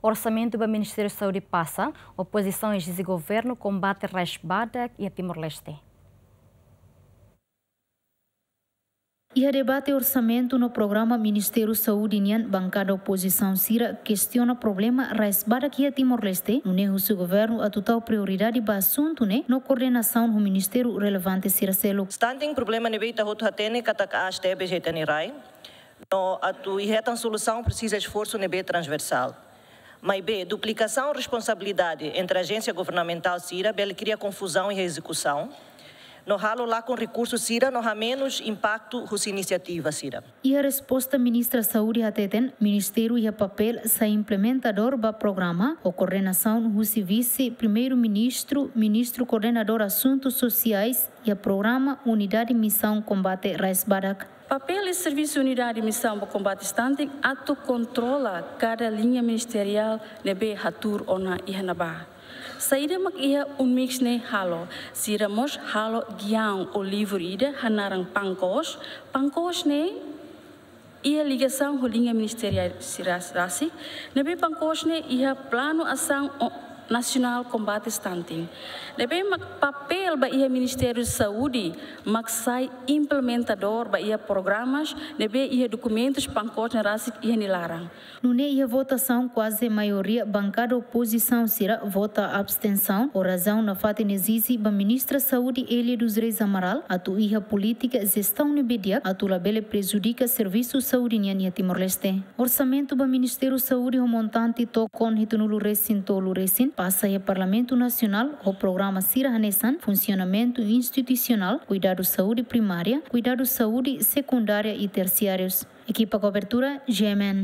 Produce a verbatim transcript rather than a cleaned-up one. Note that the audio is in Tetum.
Orsamentu ba Ministériu Saúde pasa, opozisaun ezije governu kombate raiz badak iha Timor-Leste. Iha debate orsamentu no programa Ministériu Saúde nian, bankada opozisaun sira kestiona problema raiz badak iha Timor-Leste, nune'e husu governu atu tau prioridade ba asuntu ne'e no koordenasaun ho ministériu relevante sira seluk. Stunting problema ne'ebé ita hotu hatene katak aas tebes iha ita-nia rai. No atu hetan solusaun presiza esforsu ne'ebé transversál. Maibé, duplikasaun responsabilidade entre ajénsia governamentál sira bele kria konfuzaun iha ezekusaun, no halo lakon rekursu sira no hamenus impaktu husi inisiativa sira. Iha resposta, Ministra Saúde hateten, ministériu iha papél sai implementadór ba programa, ho koordenasaun husi Vise-Primeiru-Ministru, Ministru Koordenadór Asuntus Sosiais, iha programa Unidade Misaun Kombate Raiz Badak. Papél i servisu Unidade Misaun ba Kombate Stunting atu kontrola kada liña ministeriál ne'ebé hatuur ona iha ne'ebá. Saida mak iha UNMIS ne'e halo? Sira mós halo giaun ou livru ida hanaran PANKOS. PANKOS ne'e iha ligasaun ho liña ministeriál sira rasik, ne'ebé PANKOS ne'e iha planu asaun o-, nasionál kombate stunting. Ne'ebé mak papél ba iha Ministériu Saúde mak sai implementadór ba iha programas ne'ebé iha dokumentus PANKOS ne'e rasik iha nia laran. Nune'e iha votasaun kuaze maioria bankada opozisaun sira vota abstensaun, ho razaun nafatin ezije ba Ministra Saúde Elia dos Reis Amaral atu iha polítika jestaun ne'ebé di'ak atu labele prejudika servisu saúde nian iha Timor-Leste. Orsamentu ba Ministériu Saúde ho montante tokon hitunulu resin tolu resin pasa iha Parlamentu Nasionál ho programa sira hanesan funsionamentu institusionál, kuidadu saúde primária, kuidadu saúde sekundária i tersiárius. Ekipa kobertura, G M N.